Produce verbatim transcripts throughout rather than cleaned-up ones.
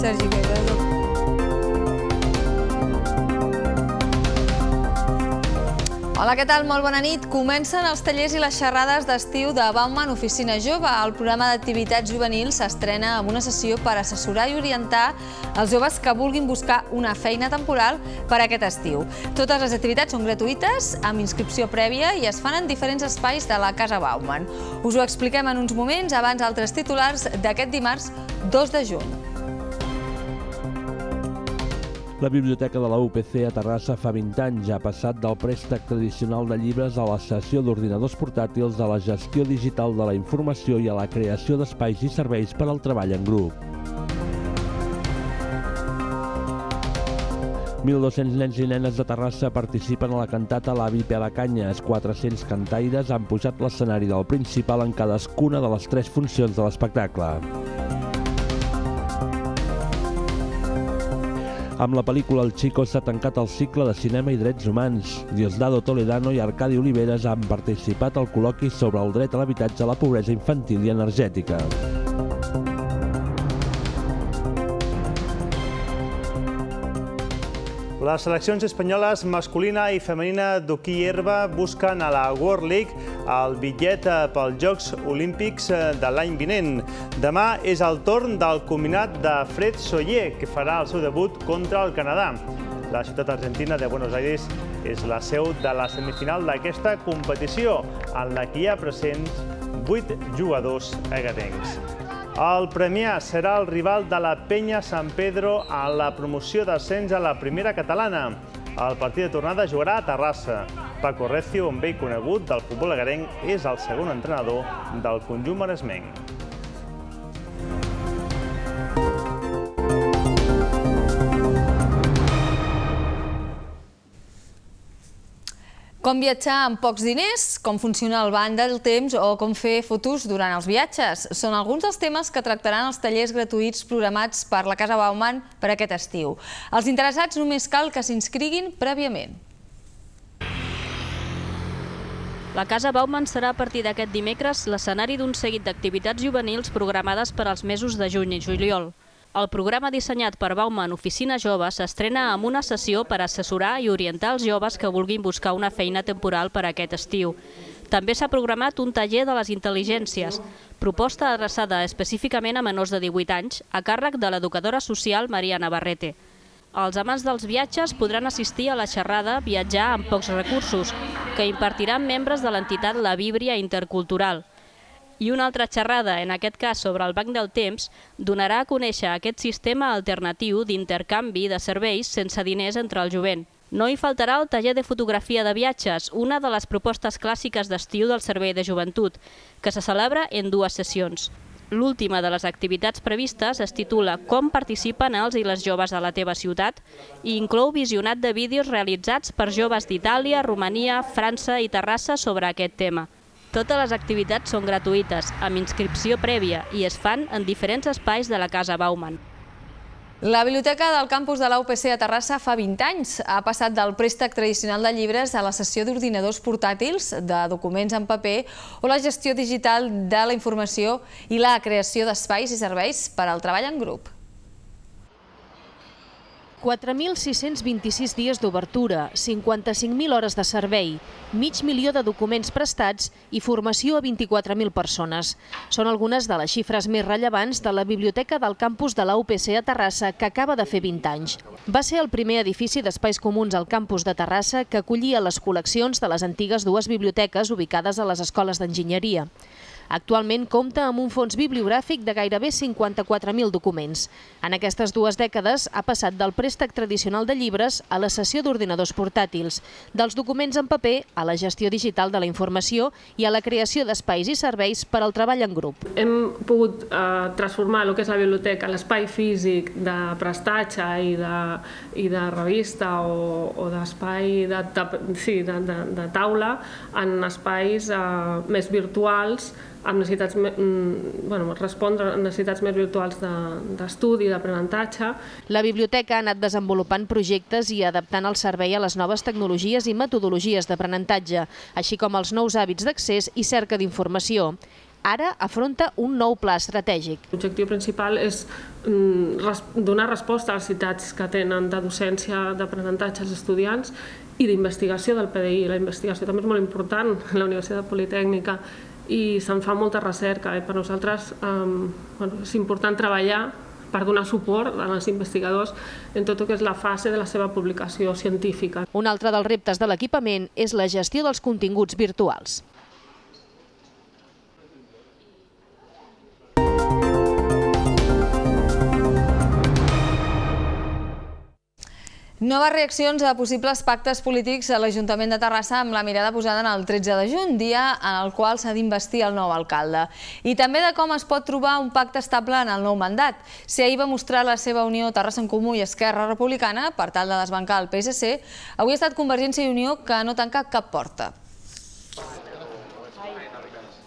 Sergi Guerrero. Hola, què tal? Molt bona nit. Comencen els tallers i les xerrades d'estiu de Bauman Oficina Jove. El programa d'activitats juvenils s'estrena amb una sessió per assessorar i orientar els joves que vulguin buscar una feina temporal per aquest estiu. Totes les activitats són gratuïtes, amb inscripció prèvia i es fan en diferents espais de la Casa Bauman. Us ho expliquem en uns moments, abans altres titulars d'aquest dimarts dos de juny. La Biblioteca de la U P C a Terrassa fa vint anys ha passat del préstec tradicional de llibres a la cessió d'ordinadors portàtils, a la gestió digital de la informació i a la creació d'espais i serveis per al treball en grup. mil dos-cents nens i nenes de Terrassa participen a la cantata L'Avi Pelacanyes. quatre-cents cantaires han pujat l'escenari del principal en cadascuna de les tres funcions de l'espectacle. Amb la pel·lícula El Chico s'ha tancat el cicle de cinema i drets humans. Diosdado Toledano i Arcadi Oliveres han participat al col·loqui sobre el dret a l'habitatge, la pobresa infantil i energètica. Les seleccions espanyoles masculina i femenina d'hoquei herba busquen a la World League el bitllet pels Jocs Olímpics de l'any vinent. Demà és el torn del combinat de Fred Soller, que farà el seu debut contra el Canadà. La ciutat argentina de Buenos Aires és la seu de la semifinal d'aquesta competició, en la que hi ha presents vuit jugadors agadencs. El Premià serà el rival de la Penya San Pedro a la promoció d'ascens a la primera catalana. El partit de tornada jugarà a Terrassa. Paco Recio, un vell conegut del futbol agarenc, és el segon entrenador del conjunt maresmenc. Com viatjar amb pocs diners, com funciona el banc del temps o com fer fotos durant els viatges. Són alguns dels temes que tractaran els tallers gratuïts programats per la Casa Bauman per aquest estiu. Els interessats només cal que s'inscriguin prèviament. La Casa Bauman serà a partir d'aquest dimecres l'escenari d'un seguit d'activitats juvenils programades per als mesos de juny i juliol. El programa dissenyat per Bauman Oficina Jove s'estrena amb una sessió per assessorar i orientar els joves que vulguin buscar una feina temporal per a aquest estiu. També s'ha programat un taller de les intel·ligències, proposta adreçada específicament a menors de divuit anys, a càrrec de l'educadora social Maria Navarrete. Els amants dels viatges podran assistir a la xerrada Viatjar amb pocs recursos, que impartiran membres de l'entitat La Víbria Intercultural. I una altra xerrada, en aquest cas sobre el banc del temps, donarà a conèixer aquest sistema alternatiu d'intercanvi de serveis sense diners entre el jovent. No hi faltarà el taller de fotografia de viatges, una de les propostes clàssiques d'estiu del Servei de Joventut, que se celebra en dues sessions. L'última de les activitats previstes es titula Com participen els i les joves a la teva ciutat i inclou visionat de vídeos realitzats per joves d'Itàlia, Romania, França i Terrassa sobre aquest tema. Totes les activitats són gratuïtes, amb inscripció prèvia, i es fan en diferents espais de la Casa Bauman. La biblioteca del campus de la U P C a Terrassa fa vint anys. Ha passat del préstec tradicional de llibres a la cessió d'ordinadors portàtils, de documents en paper o la gestió digital de la informació i la creació d'espais i serveis per al treball en grup. quatre mil sis-cents vint-i-sis dies d'obertura, cinquanta-cinc mil hores de servei, mig milió de documents prestats i formació a vint-i-quatre mil persones. Són algunes de les xifres més rellevants de la biblioteca del campus de la U P C a Terrassa, que acaba de fer vint anys. Va ser el primer edifici d'espais comuns al campus de Terrassa que acollia les col·leccions de les antigues dues biblioteques ubicades a les escoles d'enginyeria. Actualment compta amb un fons bibliogràfic de gairebé cinquanta-quatre mil documents. En aquestes dues dècades ha passat del préstec tradicional de llibres a la cessió d'ordinadors portàtils, dels documents en paper a la gestió digital de la informació i a la creació d'espais i serveis per al treball en grup. Hem pogut eh, transformar el que és la biblioteca, l'espai físic de prestatge i de, i de revista o, o d'espai de, de, sí, de, de, de taula en espais eh, més virtuals, amb necessitats, bueno, respondre a necessitats més virtuals d'estudi, d'aprenentatge. La biblioteca ha anat desenvolupant projectes i adaptant el servei a les noves tecnologies i metodologies d'aprenentatge, així com als nous hàbits d'accés i cerca d'informació. ara afronta un nou pla estratègic. L'objectiu principal és donar resposta a les necessitats que tenen de docència, d'aprenentatge als estudiants i d'investigació del P D I. La investigació també és molt important a la Universitat Politècnica i se'n fa molta recerca. Per nosaltres és important treballar per donar suport als investigadors en tot el que és la fase de la seva publicació científica. Un altre dels reptes de l'equipament és la gestió dels continguts virtuals. Noves reaccions a possibles pactes polítics a l'Ajuntament de Terrassa amb la mirada posada en el tretze de juny, dia en el qual s'ha d'investir el nou alcalde. I també de com es pot trobar un pacte estable en el nou mandat. Si ahir va mostrar la seva unió Terrassa en Comú i Esquerra Republicana per tal de desbancar el P S C, avui ha estat Convergència i Unió que no tanca cap porta.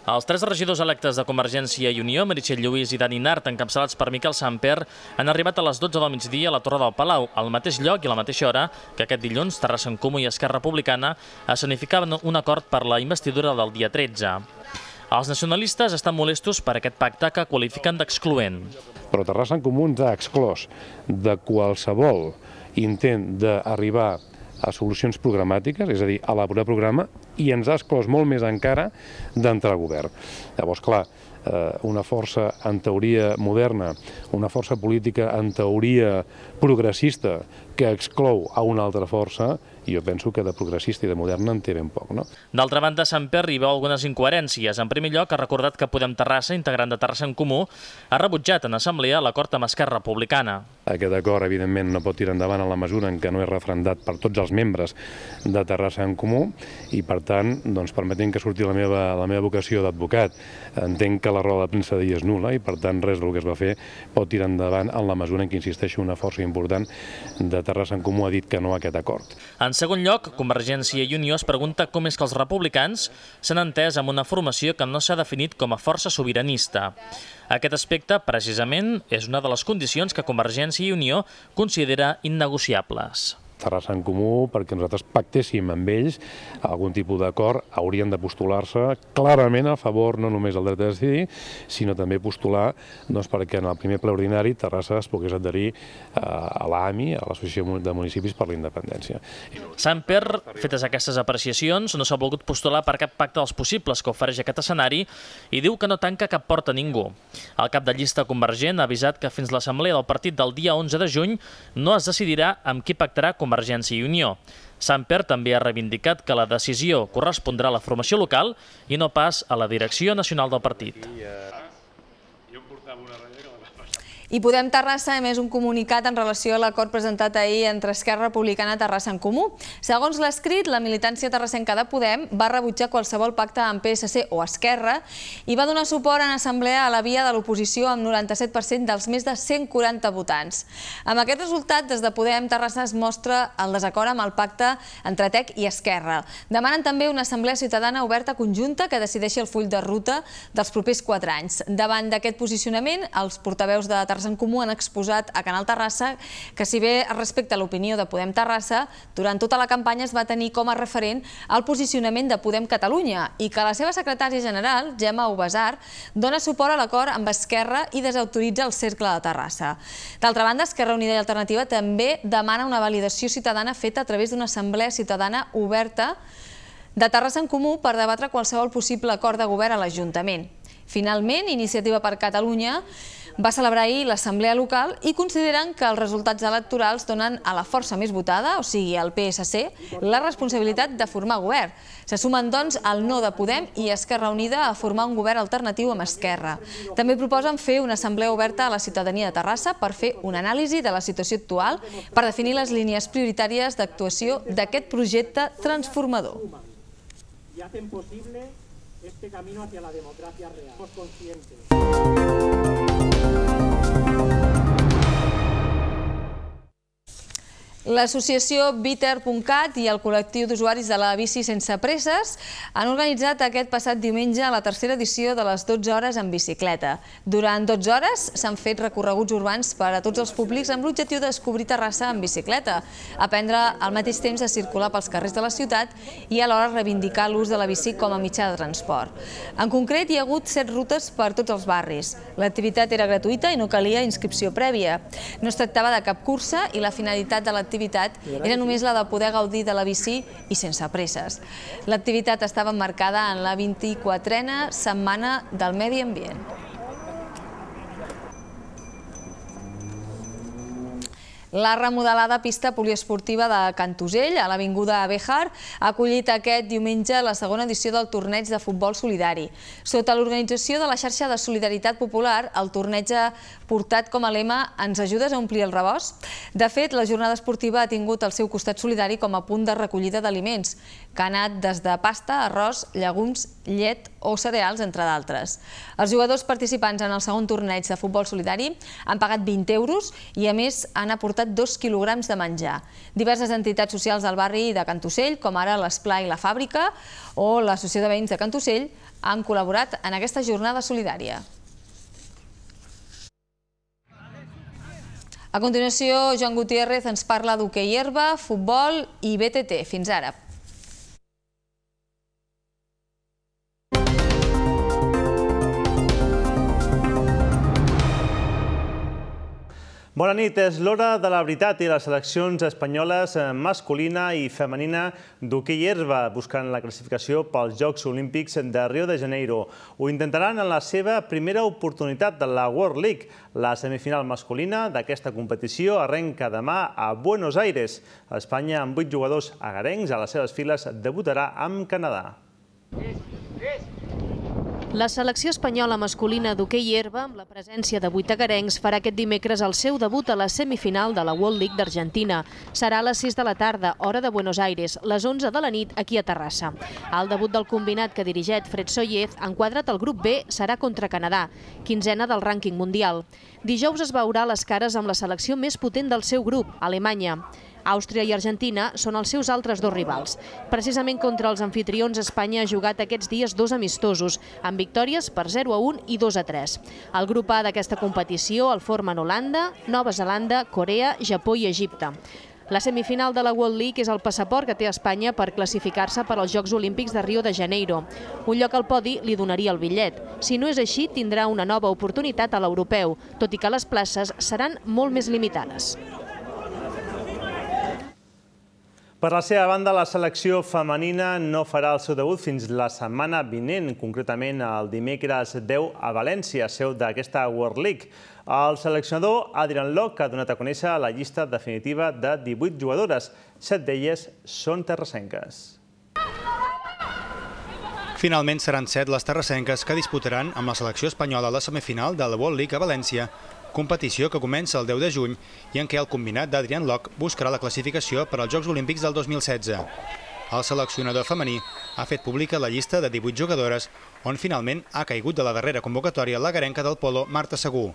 Els tres regidors electes de Convergència i Unió, Meritxell Lluís i Dani Nart, encapçalats per Miquel Samper, han arribat a les dotze del migdia a la Torre del Palau, al mateix lloc i a la mateixa hora que aquest dilluns Terrassa en Comú i Esquerra Republicana escenificaven un acord per la investidura del dia tretze. Els nacionalistes estan molestos per aquest pacte que qualifiquen d'excloent. Però Terrassa en Comú ens ha exclòs de qualsevol intent d'arribar a solucions programàtiques, és a dir, a elaborar programa, i ens ha exclòs molt més encara d'entrar al govern. Llavors, clar, una força en teoria moderna, una força política en teoria progressista que exclou a una altra força, i jo penso que de progressista i de moderna en té ben poc, no? D'altra banda, Samper hi veu algunes incoherències. En primer lloc, ha recordat que Podem Terrassa, integrant de Terrassa en Comú, ha rebutjat en assemblea l'acord amb Esquerra Republicana. Aquest acord, evidentment, no pot tirar endavant en la mesura en què no és referendat per tots els membres de Terrassa en Comú i, per tant, doncs, permetent que surti la meva, la meva vocació d'advocat, entenc que la roda de premsa d'ahir és nul·la i, per tant, res del que es va fer pot tirar endavant en la mesura en què, insisteixo, una força important de Terrassa en Comú ha dit que no a aquest acord. En segon lloc, Convergència i Unió es pregunta com és que els republicans s'han entès amb una formació que no s'ha definit com a força sobiranista. Aquest aspecte, precisament, és una de les condicions que Convergència i Unió considera innegociables. Terrassa en Comú, perquè nosaltres pactéssim amb ells algun tipus d'acord, haurien de postular-se clarament a favor no només del dret a decidir, sinó també postular doncs, perquè en el primer ple ordinari Terrassa es pogués adherir a l'A M I, a l'Associació de Municipis per la Independència. Samper, fetes aquestes apreciacions, no s'ha volgut postular per cap pacte dels possibles que ofereix aquest escenari i diu que no tanca cap porta a ningú. El cap de llista convergent ha avisat que fins l'assemblea del partit del dia onze de juny no es decidirà amb qui pactarà Convergència i Unió. Samper també ha reivindicat que la decisió correspondrà a la formació local i no pas a la direcció nacional del partit. I Podem Terrassa ha emès un comunicat en relació a l'acord presentat ahir entre Esquerra Republicana i Terrassa en Comú. Segons l'escrit, la militància terrassenca de Podem va rebutjar qualsevol pacte amb P S C o Esquerra i va donar suport en assemblea a la via de l'oposició amb noranta-set per cent dels més de cent quaranta votants. Amb aquest resultat, des de Podem Terrassa es mostra el desacord amb el pacte entre T E C i Esquerra. Demanen també una assemblea ciutadana oberta conjunta que decideixi el full de ruta dels propers quatre anys. Davant d'aquest posicionament, els portaveus de Terrassa en Comú han exposat a Canal Terrassa que, si bé respecte a l'opinió de Podem Terrassa, durant tota la campanya es va tenir com a referent el posicionament de Podem Catalunya i que la seva secretària general, Gemma Ubasar, dona suport a l'acord amb Esquerra i desautoritza el Cercle de Terrassa. D'altra banda, Esquerra Unida i Alternativa també demana una validació ciutadana feta a través d'una assemblea ciutadana oberta de Terrassa en Comú per debatre qualsevol possible acord de govern a l'Ajuntament. Finalment, Iniciativa per Catalunya va celebrar ahir l'assemblea local i consideren que els resultats electorals donen a la força més votada, o sigui, al P S C, la responsabilitat de formar govern. Se sumen, doncs, el no de Podem i Esquerra Unida a formar un govern alternatiu amb Esquerra. També proposen fer una assemblea oberta a la ciutadania de Terrassa per fer una anàlisi de la situació actual per definir les línies prioritàries d'actuació d'aquest projecte transformador. Y hacen posible este camino hacia la democracia real. Somos conscientes. L'associació Bitter punt cat i el col·lectiu d'usuaris de la bici sense presses han organitzat aquest passat diumenge la tercera edició de les dotze hores en bicicleta. Durant dotze hores s'han fet recorreguts urbans per a tots els públics amb l'objectiu de descobrir Terrassa en bicicleta, aprendre al mateix temps a circular pels carrers de la ciutat i alhora reivindicar l'ús de la bici com a mitjà de transport. En concret, hi ha hagut set rutes per tots els barris. L'activitat era gratuïta i no calia inscripció prèvia. No es tractava de cap cursa i la finalitat de l'activitat era només la de poder gaudir de la bici i sense presses. L'activitat estava emmarcada en la vint-i-quatrena Setmana del Medi Ambient. La remodelada pista poliesportiva de Cantosell, a l'Avinguda Béjar, ha acollit aquest diumenge la segona edició del torneig de futbol solidari. Sota l'organització de la xarxa de Solidaritat Popular, el torneig ha portat com a lema «Ens ajudes a omplir el rebost?». De fet, la jornada esportiva ha tingut el seu costat solidari com a punt de recollida d'aliments, que ha anat des de pasta, arròs, llegums, llet o cereals, entre d'altres. Els jugadors participants en el segon torneig de futbol solidari han pagat vint euros i, a més, han aportat dos quilograms de menjar. Diverses entitats socials del barri de Cantosell, com ara l'Esplai i la Fàbrica o l'Associació de Veïns de Cantosell, han col·laborat en aquesta jornada solidària. A continuació, Joan Gutiérrez ens parla d'hoquei herba, futbol i B T T. Fins ara. Bona nit, és l'hora de la veritat i les seleccions espanyoles masculina i femenina d'hoquei herba buscant la classificació pels Jocs Olímpics de Rio de Janeiro. Ho intentaran en la seva primera oportunitat de la World League. La semifinal masculina d'aquesta competició arrenca demà a Buenos Aires. Espanya, amb vuit jugadors agarencs a les seves files, debutarà amb Canadà. La selecció espanyola masculina d'hoquei herba, amb la presència de vuit agarencs, farà aquest dimecres el seu debut a la semifinal de la World League d'Argentina. Serà a les sis de la tarda, hora de Buenos Aires, les onze de la nit aquí a Terrassa. El debut del combinat que dirigeix Fred Sollez, enquadrat al grup B, serà contra Canadà, quinzena del rànquing mundial. Dijous es veurà les cares amb la selecció més potent del seu grup, Alemanya. Àustria i Argentina són els seus altres dos rivals. Precisament contra els anfitrions, Espanya ha jugat aquests dies dos amistosos, amb victòries per zero a un i dos a tres. El grup A d'aquesta competició el formen Holanda, Nova Zelanda, Corea, Japó i Egipte. La semifinal de la World League és el passaport que té Espanya per classificar-se per als Jocs Olímpics de Rio de Janeiro. Un lloc al podi li donaria el bitllet. Si no és així, tindrà una nova oportunitat a l'europeu, tot i que les places seran molt més limitades. Per la seva banda, la selecció femenina no farà el seu debut fins la setmana vinent, concretament el dimecres deu a València, seu d'aquesta World League. El seleccionador Adrian Locke ha donat a conèixer la llista definitiva de divuit jugadores. Set d'elles són terrassenques. Finalment seran set les terrassenques que disputaran amb la selecció espanyola la semifinal de la World League a València, competició que comença el deu de juny i en què el combinat d'Adrian Locke buscarà la classificació per als Jocs Olímpics del dos mil setze. El seleccionador femení ha fet pública la llista de divuit jugadores, on finalment ha caigut de la darrera convocatòria la garenca del polo Marta Segú.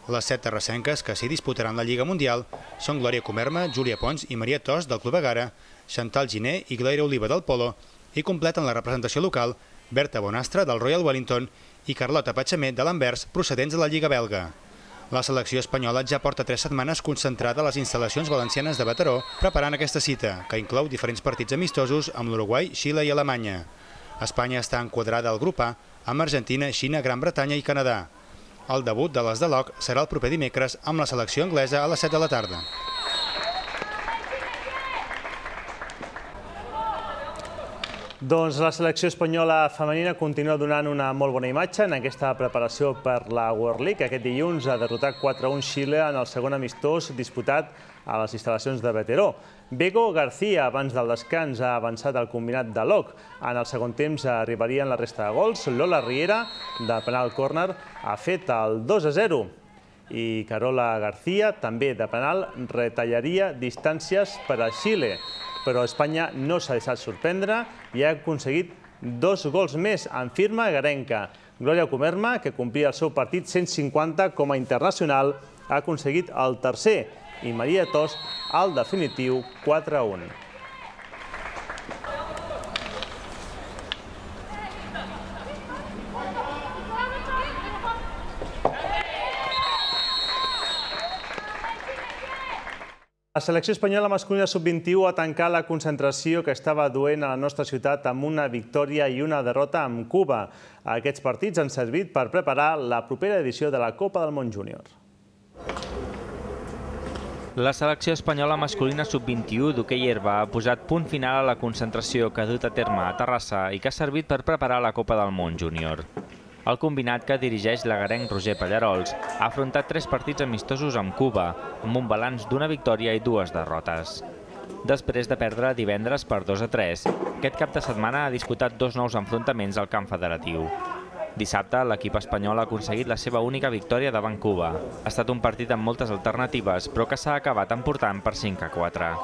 Les set terrassenques que s'hi disputaran la Lliga Mundial són Glòria Comerma, Júlia Pons i Maria Tos del Club Egara, Chantal Giné i Gloria Oliva del polo, i completen la representació local Berta Bonastre del Royal Wellington i Carlota Patxamet de l'Anvers, procedents de la Lliga belga. La selecció espanyola ja porta tres setmanes concentrada a les instal·lacions valencianes de Mataró preparant aquesta cita, que inclou diferents partits amistosos amb l'Uruguai, Xile i Alemanya. Espanya està enquadrada al grup A amb Argentina, Xina, Gran Bretanya i Canadà. El debut de les de Locke serà el proper dimecres amb la selecció anglesa a les set de la tarda. Doncs la selecció espanyola femenina continua donant una molt bona imatge en aquesta preparació per la World League. Aquest dilluns ha derrotat quatre a un Xile en el segon amistós disputat a les instal·lacions de Mataró. Bego García, abans del descans, ha avançat el combinat de Locke. En el segon temps arribarien la resta de gols. Lola Riera, de penal córner, ha fet el dos a zero. I Carola García, també de penal, retallaria distàncies per a Xile. Però Espanya no s'ha deixat sorprendre i ha aconseguit dos gols més en firma garenca. Glòria Comerma, que complia el seu partit cent cinquanta com a internacional, ha aconseguit el tercer i Maria Tos al definitiu quatre a un. La selecció espanyola masculina sub vint-i-u ha tancat la concentració que estava duent a la nostra ciutat amb una victòria i una derrota amb Cuba. Aquests partits han servit per preparar la propera edició de la Copa del Món Júnior. La selecció espanyola masculina sub vint-i-u d'hoquei herba ha posat punt final a la concentració que ha dut a terme a Terrassa i que ha servit per preparar la Copa del Món Júnior. El combinat que dirigeix l'agarenc Roger Pallarols ha afrontat tres partits amistosos amb Cuba, amb un balanç d'una victòria i dues derrotes. Després de perdre divendres per dos a tres, aquest cap de setmana ha disputat dos nous enfrontaments al camp federatiu. Dissabte, l'equip espanyol ha aconseguit la seva única victòria davant Cuba. Ha estat un partit amb moltes alternatives, però que s'ha acabat emportant per cinc a quatre.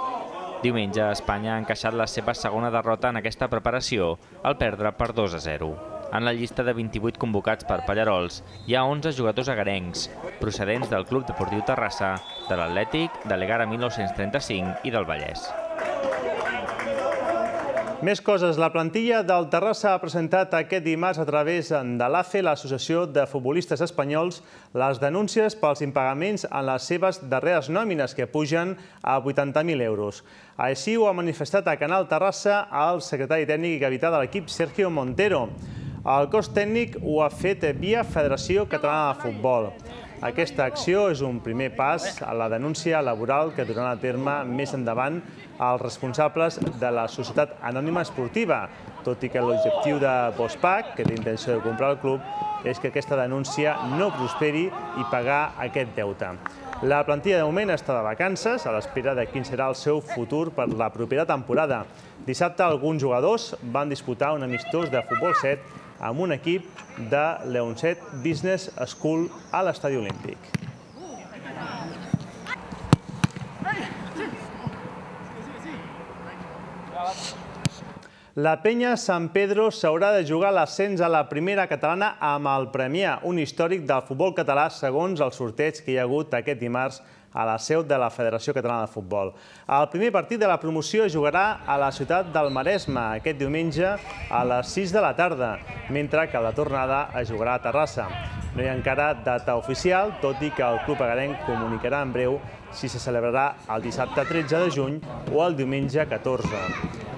Diumenge, Espanya ha encaixat la seva segona derrota en aquesta preparació, al perdre per dos a zero. En la llista de vint-i-vuit convocats per Pallarols hi ha onze jugadors agarencs, procedents del Club Deportiu Terrassa, de l'Atlètic, de l'Egara mil nou-cents trenta-cinc i del Vallès. Més coses. La plantilla del Terrassa ha presentat aquest dimarts a través de l'A C E, l'Associació de Futbolistes Espanyols, les denúncies pels impagaments en les seves darreres nòmines, que pugen a vuitanta mil euros. Així ho ha manifestat a Canal Terrassa el secretari tècnic i capità de l'equip, Sergio Montero. El cos tècnic ho ha fet via Federació Catalana de Futbol. Aquesta acció és un primer pas a la denúncia laboral que duran a terme més endavant els responsables de la Societat Anònima Esportiva, tot i que l'objectiu de Bospac, que té intenció de comprar el club, és que aquesta denúncia no prosperi i pagar aquest deute. La plantilla de moment està de vacances, a l'espera de quin serà el seu futur per la propera temporada. Dissabte alguns jugadors van disputar un amistós de futbol set amb un equip de Leonset Business School a l'Estadi Olímpic. La Penya Sant Pedro s'haurà de jugar l'ascens a la primera catalana amb el Premià, un històric del futbol català segons el sorteig que hi ha hagut aquest dimarts a la seu de la Federació Catalana de Futbol. El primer partit de la promoció es jugarà a la ciutat del Maresme aquest diumenge a les sis de la tarda, mentre que la tornada es jugarà a Terrassa. No hi ha encara data oficial, tot i que el club agarenc comunicarà en breu si se celebrarà el dissabte tretze de juny o el diumenge catorze.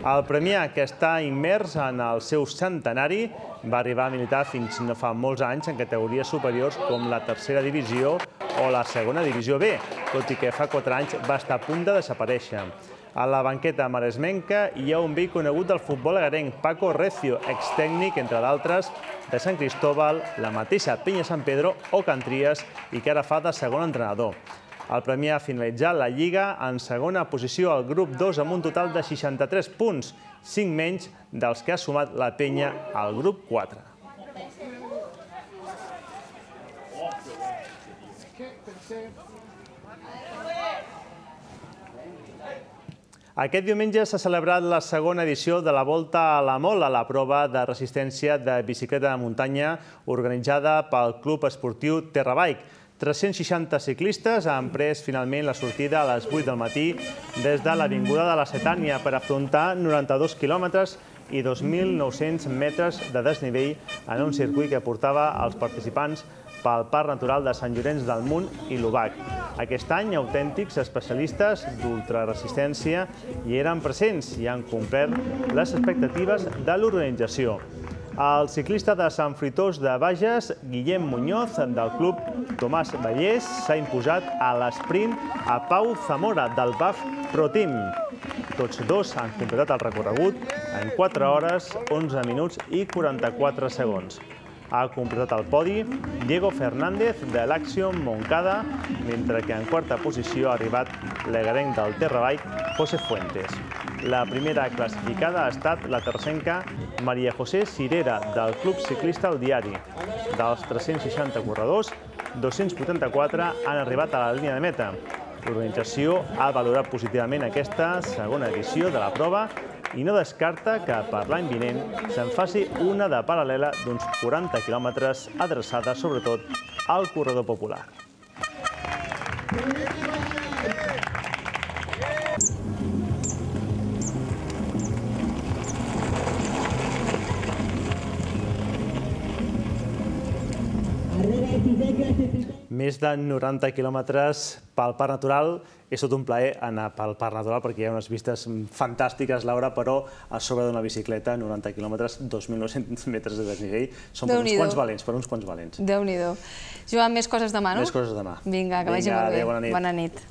El Premià, que està immers en el seu centenari, va arribar a militar fins no fa molts anys en categories superiors com la tercera divisió o la segona divisió B, tot i que fa quatre anys va estar a punt de desaparèixer. A la banqueta maresmenca hi ha un vell conegut del futbol agarenc, Paco Recio, extècnic, entre d'altres, de Sant Cristóbal, la mateixa Penya Sant Pedro o Can Tries, i que ara fa de segon entrenador. El Premià ha finalitzat la Lliga en segona posició al grup dos amb un total de seixanta-tres punts, cinc menys dels que ha sumat la Penya al grup quatre. Aquest diumenge s'ha celebrat la segona edició de la Volta a la Mola, la prova de resistència de bicicleta de muntanya organitzada pel Club Esportiu Terrabike. tres-cents seixanta ciclistes han pres finalment la sortida a les vuit del matí des de l'Avinguda de la Setània per afrontar noranta-dos quilòmetres i dos mil nou-cents metres de desnivell en un circuit que portava els participants pel Parc Natural de Sant Llorenç del Munt i l'Obac. Aquest any, autèntics especialistes d'ultraresistència hi eren presents i han complert les expectatives de l'organització. El ciclista de Sant Fruitós de Bages, Guillem Muñoz, del club Tomàs Vallès, s'ha imposat a l'esprint a Pau Zamora, del B A F Pro Team. Tots dos han completat el recorregut en quatre hores, onze minuts i quaranta-quatre segons. Ha completat el podi Diego Fernández de l'Action Moncada, mentre que en quarta posició ha arribat l'agarenc del Terrabike, José Fuentes. La primera classificada ha estat la tercenca Maria José Cirera, del Club Ciclista El Diari. Dels tres-cents seixanta corredors, dos-cents vuitanta-quatre han arribat a la línia de meta. L'organització ha valorat positivament aquesta segona edició de la prova i no descarta que per l'any vinent se'n faci una de paral·lela d'uns quaranta quilòmetres adreçada sobretot al corredor popular. Més de noranta quilòmetres pel Parc Natural. És tot un plaer anar pel Parc Natural perquè hi ha unes vistes fantàstiques, Laura, però a sobre d'una bicicleta, noranta quilòmetres, dos mil nou-cents metres de desnivell, són per uns quants valents, per uns quants valents. Déu-n'hi-do. Joan, més coses demà, no? Més coses demà. Vinga, que vagi molt bé. Bona nit.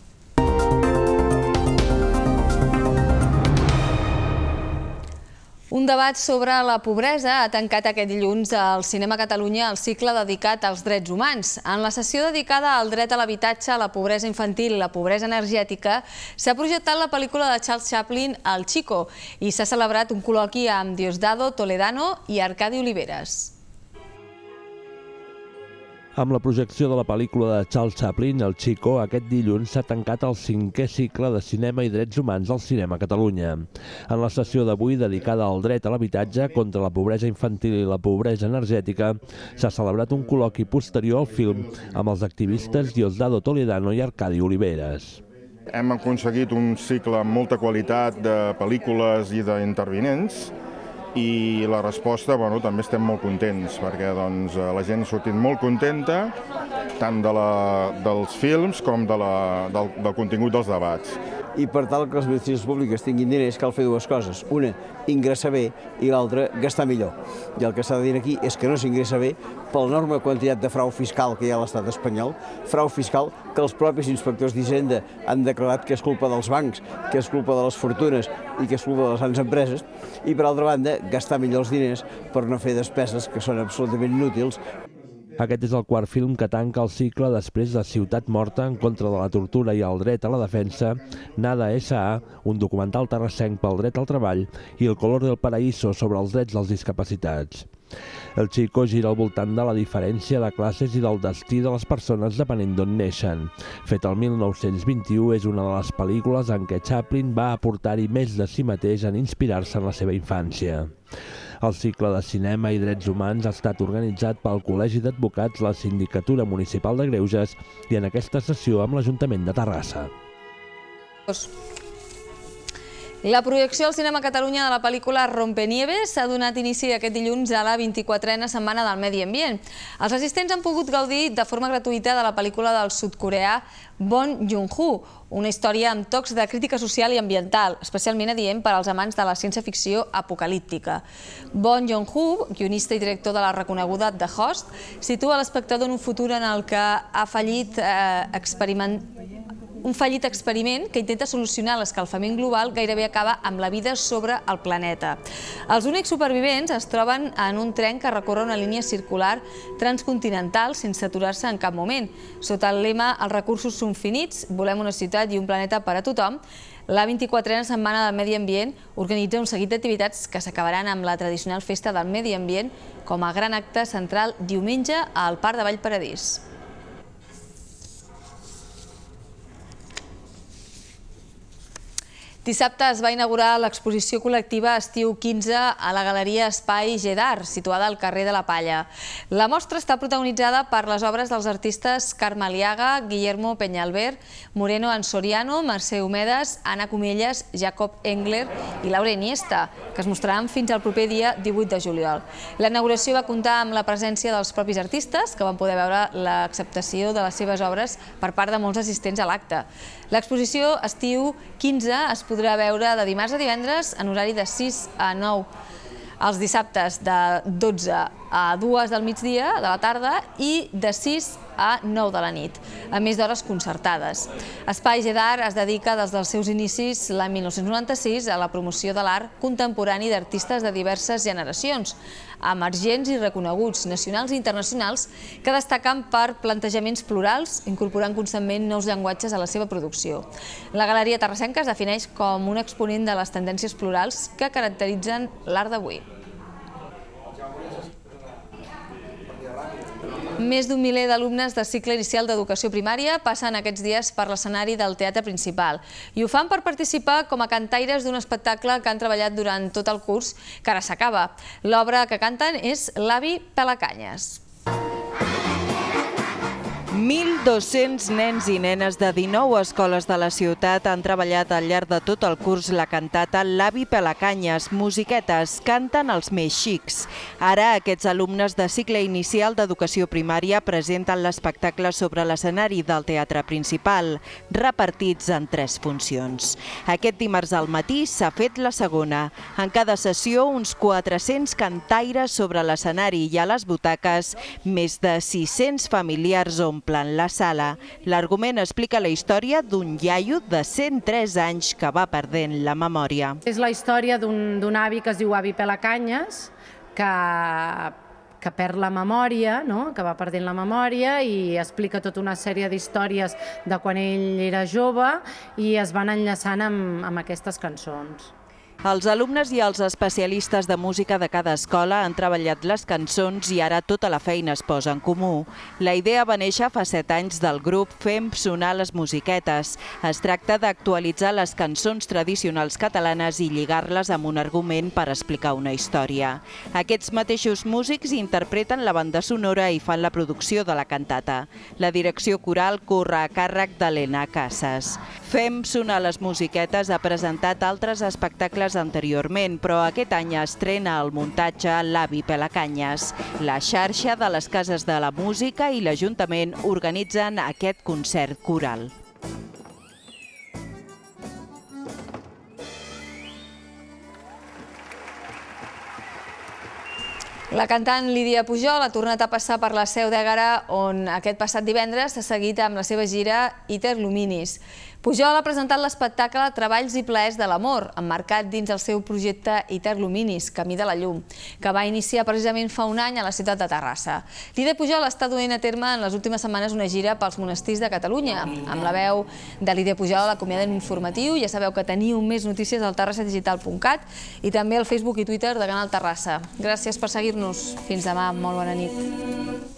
Un debat sobre la pobresa ha tancat aquest dilluns al Cinema Catalunya el cicle dedicat als drets humans. En la sessió dedicada al dret a l'habitatge, a la pobresa infantil i la pobresa energètica, s'ha projectat la pel·lícula de Charles Chaplin, El Chico, i s'ha celebrat un col·loqui amb Diosdado Toledano i Arcadi Oliveres. Amb la projecció de la pel·lícula de Charles Chaplin, El Chico, aquest dilluns s'ha tancat el cinquè cicle de cinema i drets humans al Cinema Catalunya. En la sessió d'avui, dedicada al dret a l'habitatge contra la pobresa infantil i la pobresa energètica, s'ha celebrat un col·loqui posterior al film amb els activistes Diosdado Toledano i Arcadi Oliveres. Hem aconseguit un cicle amb molta qualitat de pel·lícules i d'intervinents, i la resposta, bueno, també estem molt contents, perquè doncs, la gent ha sortit molt contenta, tant de la, dels films com de la, del, del contingut dels debats. I per tal que les administracions públiques tinguin diners cal fer dues coses. Una, ingressar bé, i l'altra, gastar millor. I el que s'ha de dir aquí és que no s'ingressa bé per l'enorme quantitat de frau fiscal que hi ha a l'estat espanyol, frau fiscal que els propis inspectors d'Hisenda han declarat que és culpa dels bancs, que és culpa de les fortunes i que és culpa de les grans empreses, i per altra banda, gastar millor els diners per no fer despeses que són absolutament inútils. Aquest és el quart film que tanca el cicle després de Ciutat Morta en contra de la tortura i el dret a la defensa, Nada S A, un documental terrassenc pel dret al treball, i El color del paraíso sobre els drets dels discapacitats. El Chico gira al voltant de la diferència de classes i del destí de les persones depenent d'on neixen. Fet el mil nou-cents vint-i-u, és una de les pel·lícules en què Chaplin va aportar-hi més de si mateix en inspirar-se en la seva infància. El cicle de cinema i drets humans ha estat organitzat pel Col·legi d'Advocats, la Sindicatura Municipal de Greuges i en aquesta sessió amb l'Ajuntament de Terrassa. La projecció al Cinema Catalunya de la pel·lícula Rompenieves s'ha donat inici aquest dilluns a la vint-i-quatrena Setmana del Medi Ambient. Els assistents han pogut gaudir de forma gratuïta de la pel·lícula del sud-coreà Bong Joon-ho, una història amb tocs de crítica social i ambiental, especialment adient per als amants de la ciència-ficció apocalíptica. Bong Joon-ho, guionista i director de la reconeguda The Host, situa l'espectador en un futur en el que ha fallit eh, experiment... un fallit experiment que intenta solucionar l'escalfament global gairebé acaba amb la vida sobre el planeta. Els únics supervivents es troben en un tren que recorre una línia circular transcontinental sense aturar-se en cap moment. Sota el lema "Els recursos són finits, volem una ciutat i un planeta per a tothom", la vint-i-quatrena Setmana del Medi Ambient organitza un seguit d'activitats que s'acabaran amb la tradicional Festa del Medi Ambient com a gran acte central diumenge al Parc de Vallparadís. Dissabte es va inaugurar l'exposició col·lectiva Estiu quinze a la Galeria Espai Gedar, situada al carrer de la Palla. La mostra està protagonitzada per les obres dels artistes Carme Aliaga, Guillermo Peñalver, Moreno Ansoriano, Mercè Homedes, Anna Comelles, Jacob Engler i Laura Iniesta, que es mostraran fins al proper dia divuit de juliol. La inauguració va comptar amb la presència dels propis artistes, que van poder veure l'acceptació de les seves obres per part de molts assistents a l'acte. L'exposició Estiu quinze es podrà veure de dimarts a divendres en horari de sis a nou, els dissabtes de dotze a dues del migdia de la tarda i de sis a nou de la nit, a més d'hores concertades. Espai Gedar es dedica des dels seus inicis l'any mil nou-cents noranta-sis a la promoció de l'art contemporani d'artistes de diverses generacions, emergents i reconeguts, nacionals i internacionals, que destaquen per plantejaments plurals, incorporant constantment nous llenguatges a la seva producció. La Galeria Terrassenca es defineix com un exponent de les tendències plurals que caracteritzen l'art d'avui. Més d'un miler d'alumnes de cicle inicial d'educació primària passen aquests dies per l'escenari del Teatre Principal i ho fan per participar com a cantaires d'un espectacle que han treballat durant tot el curs, que ara s'acaba. L'obra que canten és L'avi Pelacanyes. mil dos-cents nens i nenes de dinou escoles de la ciutat han treballat al llarg de tot el curs la cantata L'avi Pelacanyes, musiquetes, canten els més xics. Ara aquests alumnes de cicle inicial d'educació primària presenten l'espectacle sobre l'escenari del teatre principal, repartits en tres funcions. Aquest dimarts al matí s'ha fet la segona. En cada sessió, uns quatre-cents cantaires sobre l'escenari i a les butaques, més de sis-cents familiars omplen la sala. L'argument explica la història d'un iaio de cent tres anys que va perdent la memòria. És la història d'un avi que es diu avi Pelacanyes, que que perd la memòria, que va perdent la memòria i explica tota una sèrie d'històries de quan ell era jove i es van enllaçant amb aquestes cançons. Els alumnes i els especialistes de música de cada escola han treballat les cançons i ara tota la feina es posa en comú. La idea va néixer fa set anys del grup Fem sonar les musiquetes. Es tracta d'actualitzar les cançons tradicionals catalanes i lligar-les amb un argument per explicar una història. Aquests mateixos músics interpreten la banda sonora i fan la producció de la cantata. La direcció coral corre a càrrec d'Helena Casas. Fem sonar les musiquetes ha presentat altres espectacles anteriorment, però aquest any estrena el muntatge L'avi Pelacanyes. La xarxa de les cases de la música i l'Ajuntament organitzen aquest concert coral. La cantant Lídia Pujol ha tornat a passar per la Seu d'Ègara, on aquest passat divendres s'ha seguit amb la seva gira Iter Luminis. Pujol ha presentat l'espectacle Treballs i plaers de l'amor, emmarcat dins el seu projecte Iter Luminis, Camí de la llum, que va iniciar precisament fa un any a la ciutat de Terrassa. Lídia Pujol està duent a terme en les últimes setmanes una gira pels monestirs de Catalunya. Amb la veu de Lídia Pujol l'acomiadem informatiu. Ja sabeu que teniu més notícies al terrassa digital punt cat i també al Facebook i Twitter de Canal Terrassa. Gràcies per seguir-nos. Fins demà. Molt bona nit.